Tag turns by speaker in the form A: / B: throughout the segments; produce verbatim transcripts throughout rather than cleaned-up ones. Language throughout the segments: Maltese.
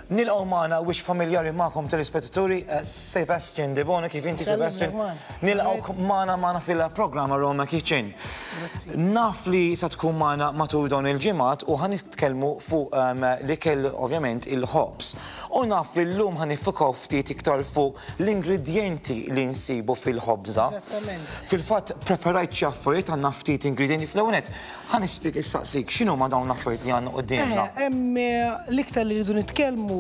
A: Nilqgħu magħna wiċċ familjari magħkom, telespettaturi, eh, Sebastian Debono. Kif inti, Sebastian? Nilqgħu magħna magħna fil-programm Aroma Kitchen. Naf li sa tkun magħna matul dawn il-ġimgħat u ħa nitkellmu fuq um, l-ikel, ovvjament il-ħobż. U naf li llum ħa niffukaw ftit iktar fuq l-ingredjenti li nsibu fil-ħobża.
B: Eżattament.
A: Fil-fatt preparajt xi affarijiet, għandna ftit ingredjenti. Fl-ewwel nett ħa nispjeg issaqsik x'inhuma dawn l-affarijiet li għandna quddiemna.
B: Eh, Hemm eh, l-iktar li rridu nitkellmu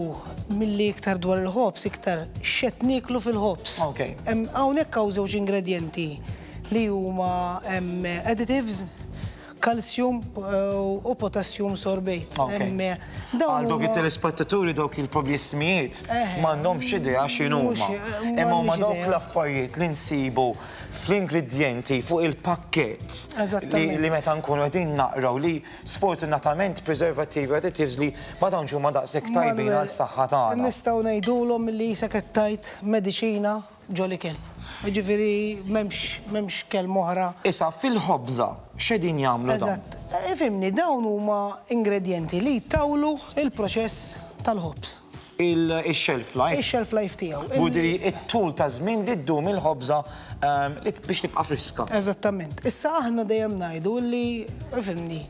B: milli iktar dwar il-ħobż, iktar x'qed nieklu fil-ħobż.
A: Ok.
B: Hemm hawnhekk hawn żewġ ingredjenti li huma hemm additives, calcium eh, u potassium sorbate.
A: Ok.
B: Hemm, eh, dawn
A: Għal dawk
B: huma-
A: it-telespettaturi, dawk il-problismijiet
B: Eh,
A: m'għandhomx idea x'inhuma.
B: mhux- eh,
A: Imma huma
B: m'għandix
A: dawk
B: idea.
A: l-affarijiet li nsibu fl-ingredjenti fuq il-pakkett li,
B: Eżattament.
A: li meta nkunu qegħdin naqraw li sfortunatament preservativi, additives li ma tantx huma daqshekk tajbin
B: Manuel,
A: għal saħħa tagħna.
B: Nistgħu ngħidulhom li qisek qed tgħid mediċina ġol-ikel. Ġifieri m'hemmx m'hemmx kelma oħra.
A: Issa fil-ħobża x'qegħdin jagħmlu dawn?
B: Eżatt. Ifhimni, dawn huma ingredjenti li jtawlu il-proċess tal-ħobż.
A: Il-shelf life.
B: Il-shelf life tiegħu.
A: Budiri it-tul ta' żmien li ddum il-ħobża ehm, li biex tibqa' friska.
B: Eżattament. Issa aħna dejjem ngħidu li, ifhimni,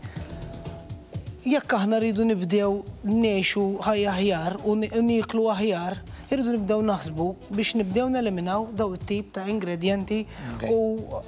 B: jekk aħna rridu nibdew ngħixu ħajja aħjar u ni- nieklu aħjar, irridu nibdew naħsbu biex nibdew neliminaw daw it-tip ta' ingredjenti.
A: Ok.
B: U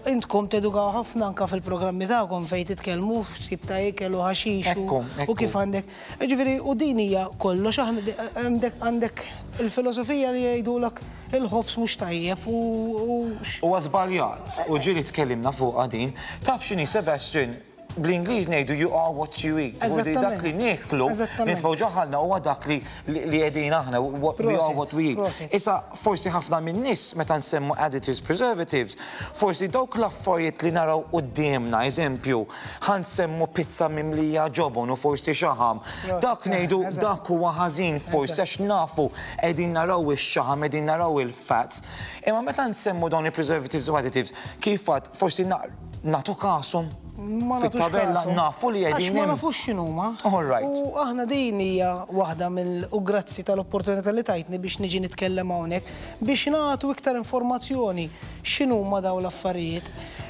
B: intkom tedukaw ħafna anka fil-programmi tagħkom fejn titkellmu f'tip ta' ikel u ħaxix u-
A: Ekku, ekku.
B: u kif għandek. Ġifieri, u din hija kollox, aħna di- għandek għandek il-filosofija li jgħidulek il-ħobż mhux tajjeb u u
A: U żbaljat, u ġieli tkellimna fuq din. Taf x'inhi, Sebastian, bl-Ingliż ngħidu "you are what you eat". Vuol dire dak li nieklu,
B: Eżattament.
A: nitfgħu ġo ħalqna, huwa dak li li li qegħdin aħna, what we are
B: Prosit,
A: what we eat.
B: Prosit.
A: Issa forsi ħafna minn nies meta nsemmu additives, preservatives, forsi dawk l-affarijiet li naraw quddiemna, eżempju, ħa nsemmu pizza mimlija ġobon u forsi xaħam.
B: Prosit,
A: Dak ngħidu
B: eżatt.
A: dak huwa ħażin forsi
B: Eżatt.
A: għax nafu qegħdin naraw ix-xaħam, qegħdin naraw il-fats. Imma meta nsemmu dawn il-preservatives u additives, kif għad forsi na- nagħtu kashom
B: Ma nagħtux
A: fit-tabella
B: kasu.
A: nafu li
B: Għax
A: qegħdin
B: ma
A: hemm.
B: nafux x'inhuma.
A: All right.
B: U aħna din hija waħda mill u grazzi tal-opportunità li tajtni biex niġi nitkellem hawnhekk biex nagħtu iktar informazzjoni x'inhuma dawn l-affarijiet.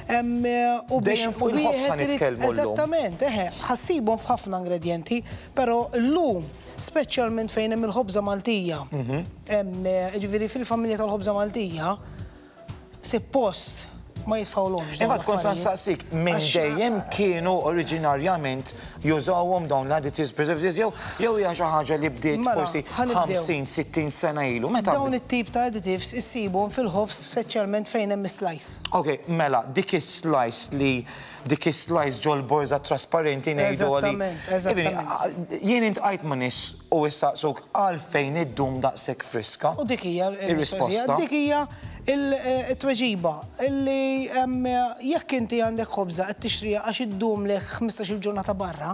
B: Em, U biex
A: Dejjem fuq il-ħobż
B: wieħed
A: ħa
B: irid-
A: nitkellmu llum.
B: Eżattament, eħe, ħa ssibhom f'ħafna ingredjenti, però llum speċjalment fejn hemm il-ħobża Maltija.
A: Mhm.
B: Hemm, ġifieri fil-familja tal-ħobża Maltija, suppost ma jitfgħulhomx dawn
A: Imma tkun sa
B: l-affarijiet.
A: nsaqsik, minn
B: Għax-
A: dejjem kienu oriġinarjament jużawhom dawn l-additives, preservatives, jew jew hija xi ħaġa li bdiet
B: Mela,
A: forsi
B: ħa nibdew.
A: ħamsin, sittin sena ilu? Meta
B: Dawn it-tip ta' additives issibhom fil-ħobż, speċjalment fejn hemm slice.
A: Ok, mela, dik is-slice li dik is-slice ġol borza trasparenti ngħidu għali.
B: Eżattament, eżattament.
A: Jien intqajt ma' nies u issaqsuk għalfejn iddum daqshekk friska.
B: U dik hija
A: Ir-risposta.
B: il-mistoqsija, dik hija il-tweġiba illi em, jekk inti għandek ħobża qed tixtriha għax iddumlek ħmistax-il ġurnata barra,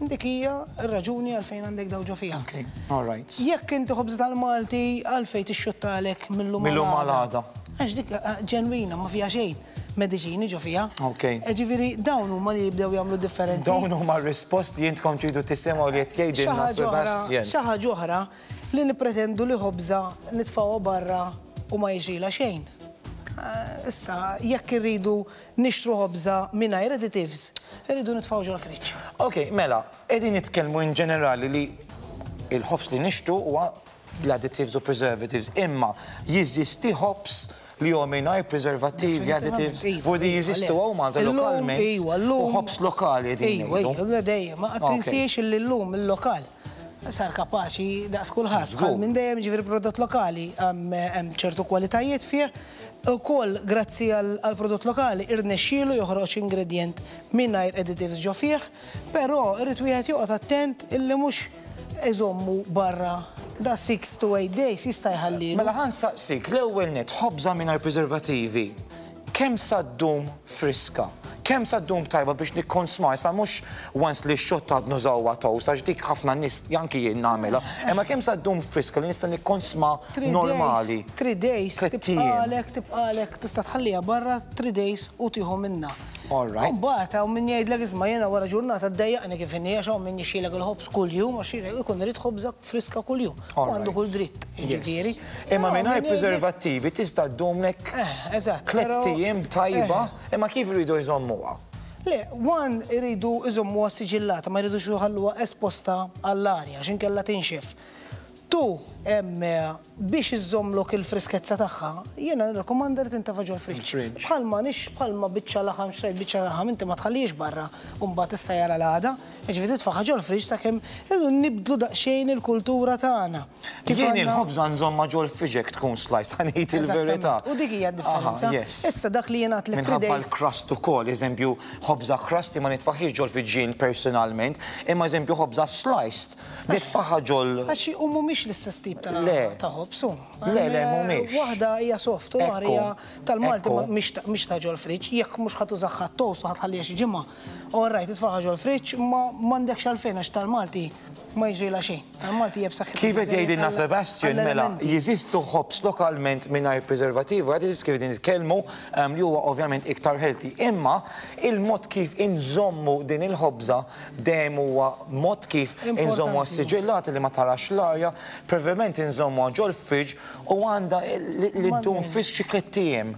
B: dik hija r-raġuni għalfejn għandek daw ġo fiha.
A: Ok, all right.
B: Jekk inti ħobża tal-Malti, għalfejn tixxottalek mill-lum
A: Mill-lum għal għada.
B: Għax dik eh, ġenwina, ma fiha xejn mediċini ġo fiha.
A: Ok.
B: Ġifieri dawn huma li jibdew jagħmlu differenzi.
A: Dawn huma r-risposti li intkom tridu tisimgħu li qed jgħidilna
B: Xi ħaġa oħra-
A: Sebastian.
B: Xi ħaġa oħra li nippretendu li ħobża nitfgħuha barra u ma jiġrilha xejn. Eh, Issa, jekk irridu nixtru ħobża mingħajr additives, irridu nitfgħu ġol friġġ.
A: Ok, mela, qegħdin nitkellmu in ġenerali li il-ħobż li nixtru huwa l-additives u preservatives, imma jeżisti ħobż li huwa mingħajr preservativi, additives,
B: Iva,
A: vuol dire
B: iva,
A: jeżistu
B: le.
A: hawn Malta
B: Illum,
A: lokalment
B: iva,
A: u
B: llum-
A: ħobż lokali qegħdin
B: Iva,
A: ngħidu.
B: iva, dejjem, ma
A: Ok.
B: tinsiex li llum il-lokal sar kapaċi daqs kulħadd.
A: Żgur.
B: Bħal minn dejjem, ġifieri prodott lokali hemm hemm ċertu kwalitajiet fih. Ukoll grazzi għal għal prodott lokali irnexxielu joħroġ ingredient mingħajr additives ġo fih, però irid wieħed joqgħod attent illi mhux iżommu barra da six to eight days jista' jħallilu.
A: Mela ħa nsaqsik, l-ewwel net, ħobża mingħajr preservativi, kemm sa ddum friska? Kemm sa ddum tajba biex nikkonsma? Issa mhux once li xottat nużawha toast, għax dik ħafna nies anki jien nagħmilha. Imma kemm sa ddum friska li nista' nikkonsma
B: Three
A: normali?
B: days, three days,
A: Tliet ijiem.
B: tibqalek, tibqalek, tista' tħalliha barra three days u tieħu minna.
A: All right.
B: Mbagħad hawn min jgħidlek, "Isma', jiena wara ġurnata ddejjaqni kif inhi," għax hawn min jixtrilek il-ħobż kuljum għax ikun irid ħobża friska kuljum. U għandu kull dritt, jiġifieri.
A: Imma mingħajr preservattivi tista' ddumlek
B: eh, eżatt,
A: tliet ijiem tajba, eh. imma kif iridu jżommuha?
B: Le, one, iridu jżommuha siġillata, ma jridux jħalluha esposta għall-arja, għax inkella tinxef. Two, biex iżommlok il-friskezza tagħha, jiena nirrakkomanda li tintefa' ġol-fridge. Bħalma nix bħalma biċċa laħam, xtrajt biċċa laħam, inti ma tħallix barra u mbagħad issa jara l-għada, jiġifieri titfaħħa ġol-fridge sakemm irridu nibdlu daqsxejn il-kultura tagħna.
A: Jien il-ħobża nżommha ġol-fridge tkun sliced, ħa ngħid il-verità.
B: U dik hija d-differenza. Issa dak li jiena għedtlek.
A: Minħabba l-crust ukoll, eżempju, ħobża crusty ma nitfaħħiex ġol-fridge personalment, imma eżempju ħobża sliced, nitfaħħa ġol.
B: Għax u mhumiex l-istess tip ta' ħobż.
A: Le, le, mhumiex.
B: Waħda hija soft u l-oħra hija tal-Malti, mhix ta' ġol-fridge, jekk mhux ħa tużaha toast u ħa tħalliha xi ġimgħa. All right, titfaħħa ġol-fridge, ma m'għandekx għalfejn għax tal-Malti ma jiġrilha xejn. Tal-Malti hija b'saħħitha.
A: Kif qed jgħidilna Sebastian, mela, jeżistu ħobż lokalment mingħajr preservativi, għad kif qegħdin nitkellmu li huwa ovvjament iktar healthy. Imma il-mod kif inżommu din il-ħobża dejjem huwa mod kif inżommu siġillati li ma tarax l-arja, preferment inżommu ġol fridge u għandha li ddum fis xi tliet ijiem.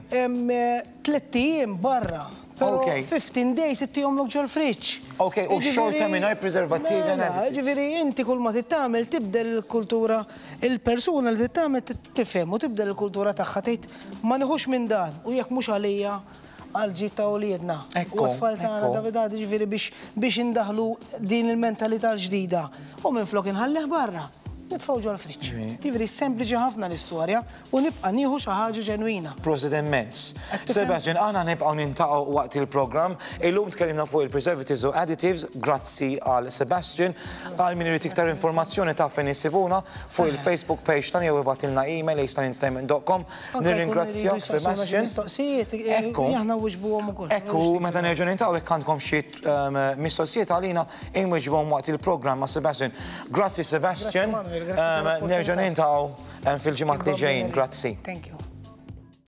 B: Tliet ijiem barra. Pero fifteen days ittihomlok ġol fridge.
A: Ok, u xorta mingħajr preservativi.
B: Ġifieri inti kull ma tittamel tibdel il-kultura, il-persuna li tittamel tifhem u tibdel il-kultura tagħha, tgħid ma nieħux minn dan u jekk mhux għalija għal-ġid ta' uliedna. U tfal tagħna, David, ġifieri biex biex indaħlu din il-mentalità l-ġdida. U minn flok inħallih barra, nitfgħu ġol fridge. Ġifieri sempliċi ħafna l-istorja u nibqa' nieħu xi ħaġa ġenwina.
A: Prosit immens. Sebastian, aħna nibqgħu niltaqgħu waqt il-programm. Illum tkellimna fuq il-preservatives u additives, grazzi għal Sebastian. Għal min irid iktar informazzjoni ta' fejn isibuna fuq il-Facebook page tagħna jew ibgħatilna email a star entertainment dot com. Nirringrazzjak, Sebastian.
B: Mistoqsijiet, aħna nwiġbuhom ukoll.
A: Ekku, meta nerġgħu niltaqgħu, jekk għandkom xi um, mistoqsijiet għalina, inwiġbuhom waqt il-programm ma' Sebastian. Grazzi, Sebastian. Nerġgħu niltaqgħu fil-ġimgħat li ġejjin. Grazzi.
B: Thank you.